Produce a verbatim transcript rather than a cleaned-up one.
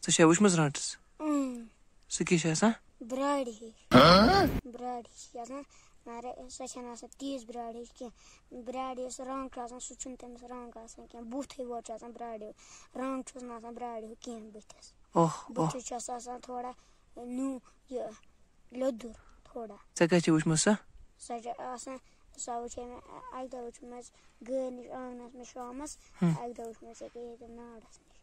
ژےٚ چھےٚ وٕچھمٕژ رانٛٹَس؟ اۭں، سُہ کیٛاہ چھِ آسان؟ براڈِ ہِش۔ براڈِ ہِش چھِ آسان، مگر سۄ چھَنہٕ آسان تِژھ براڈِ ہِش کینٛہہ۔ براڈِ یُس رنٛگ چھُ آسان، سُہ چھُنہٕ تٔمِس رنٛگ آسان کینٛہہ، بُتھٕے یوت چھُ آسان براڈِ ہیوٗ۔ رنٛگ چھُس نہٕ آسان براڈِ ہیوٗ کینٛہہ بٕتھِس۔ اوہ اوہ۔ بٕتھِس چھُ آسان تھوڑا نیوٗ یہِ لیوٚدُر تھوڑا۔ ژےٚ کَتہِ چھےٚ وٕچھمٕژ سۄ؟ سۄ چھِ آسان، سۄ وٕچھے مےٚ اَکہِ دۄہ وٕچھمٕژ گٲرۍ نِش آنٛگنَس منٛز شامَس، ہُم۔ اَکہِ دۄہ وٕچھمٕژ ییٚکیٛاہ ییٚتٮ۪ن نارَس نِش۔